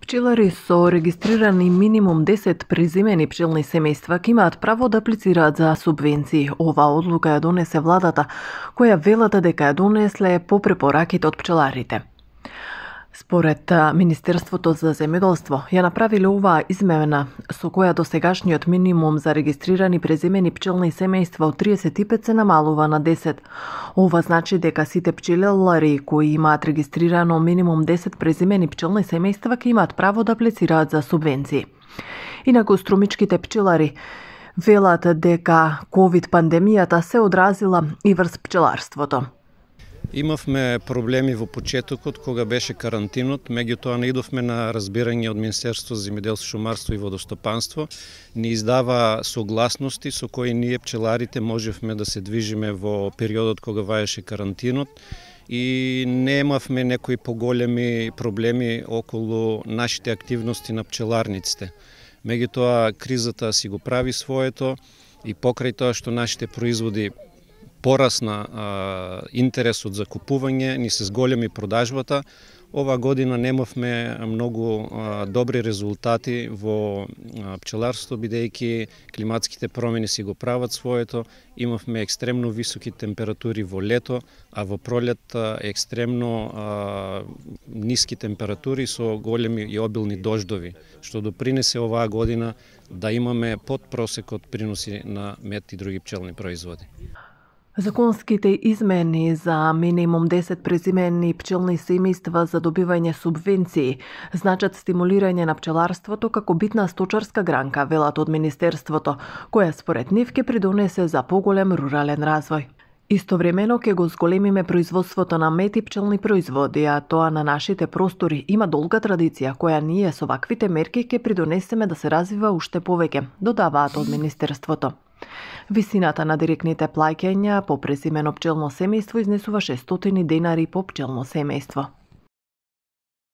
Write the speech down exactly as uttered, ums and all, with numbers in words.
Пчелари со регистрирани минимум десет презимени пчелни семејства ќе имаат право да аплицираат за субвенции. Оваа одлука ја донесе владата, која велата дека ја донесле по препораките од пчеларите. Според Министерството за земјоделство, ја направиле оваа измена со која досегашниот минимум за регистрирани преземени пчелни семејства од триесет и пет се намалува на десет. Ова значи дека сите пчелари кои имаат регистрирано минимум десет преземени пчелни семејства ќе имаат право да аплицираат за субвенции. Инаку струмичките пчелари велат дека ковид пандемијата се одразила и врз пчеларството. Имавме проблеми во почетокот кога беше карантинот, меѓутоа наидовме на разбирање од Министерството за земјоделство, шумарство и водостопанство, ни издава согласности со кои ние пчеларите можевме да се движиме во периодот кога ваеше карантинот и немавме некои поголеми проблеми околу нашите активности на пчеларниците. Меѓутоа кризата си го прави своето и покрај тоа што нашите производи порасна а, интересот за купување, ни се зголеми продажбата. Ова година немавме многу а, добри резултати во а, пчеларството, бидејќи климатските промени си го прават своето. Имавме екстремно високи температури во лето, а во пролет а, екстремно а, ниски температури со големи и обилни дождови, што допринесе оваа година да имаме под просекот приноси на мед и други пчелни производи. Законските измени за минимум десет презимени пчелни семејства за добивање субвенции значат стимулирање на пчеларството како битна сточарска гранка, велат од Министерството, која според нив ќе придонесе за поголем рурален развој. Истовремено ќе го зголемиме производството на мед и пчелни производи, а тоа на нашите простори има долга традиција, која ние со ваквите мерки ќе придонесеме да се развива уште повеќе, додаваат од Министерството. Висината на директните плаќања по презимено пчелно семејство изнесува шестстотини денари по пчелно семејство.